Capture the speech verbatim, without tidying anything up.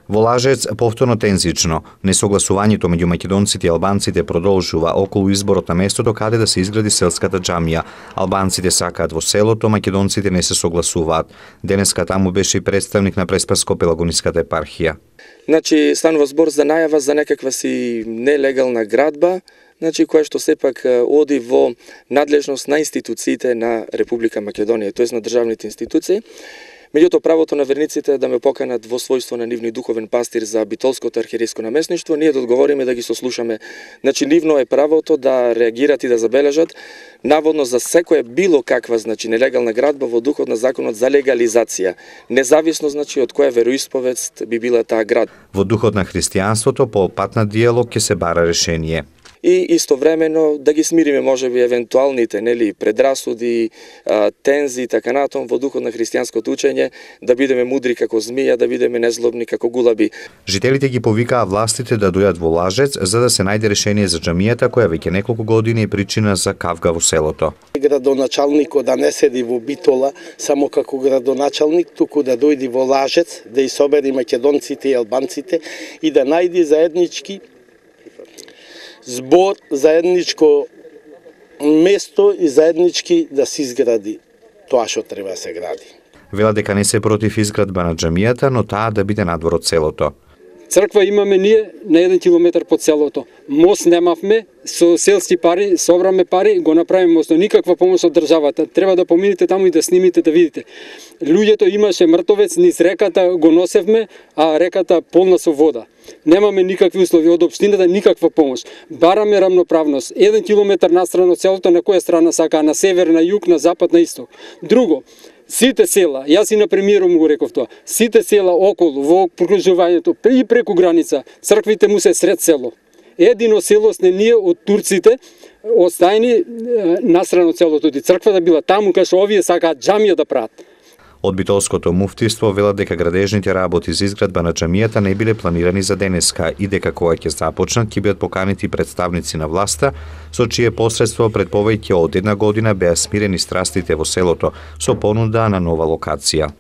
Во Лажец повторно тензично, несогласувањето меѓу македонците и албанците продолжува околу изборот на местото каде да се изгради селската џамија. Албанците сакаат во селото, македонците не се согласуваат. Денеска таму беше и представник на Преспаско-Пелагониската епархија. Значи, станува збор за најава за некаква си нелегална градба, значи која што сепак оди во надлежност на институциите на Република Македонија, тоест на државните институции. Меѓутоа, правото на верниците да ме поканат во својство на нивни духовен пастир за битолското архиерейско наместништво, ние да одговориме да ги сослушаме. Значи, нивно е правото да реагират и да забележат наводно за секоја било каква, значи, нелегална градба во духот на законот за легализација, независно, значи, од која вероисповест би била таа град. Во духот на христијанството, по пат на диалог ќе се бара решение. И истовремено да ги смириме можеби евентуалните, нели, предрасуди, тензи и така натаму во духот на христијанското учење, да бидеме мудри како змија, да бидеме незлобни како гулаби. Жителите ги повикаа властите да дојдат во Лажец за да се најде решение за џамијата која веќе неколку години е причина за кавга во селото. Градоначалникот да не седи во Битола само како градоначалник, туку да дојде во Лажец, да и собери македонците и албанците и да најде заеднички збор, заедничко место и заеднички да се изгради тоа што треба да се гради. Вела дека не се против изградба на џамијата, но таа да биде надвор од селото. Црква имаме ние на еден километар под селото. Мост немавме, со селски пари, собраме пари, го направиме мост, никаква помош од државата. Треба да поминете таму и да снимите, да видите. Луѓето имаше мртовец низ реката, го носевме, а реката полна со вода. Немаме никакви услови од општината, никаква помош. Бараме рамноправност. Еден километар настрана од селото, на која страна сака, на север, на југ, на запад, на исток. Друго, сите села, јас и на премиером го реков тоа, сите села околу, во прокружувањето и преку граница, црквите му се сред село. Едино село сне ние од турците, остајни настрана од селото, и црквата била таму, кај што овие сакаат џамија да прават. Од битолското муфтиство велат дека градежните работи за изградба на џамијата не биле планирани за денеска и дека кога ќе започнат ќе бидат поканети представници на власта, со чие посредство пред повеќе од една година беа смирени страстите во селото со понуда на нова локација.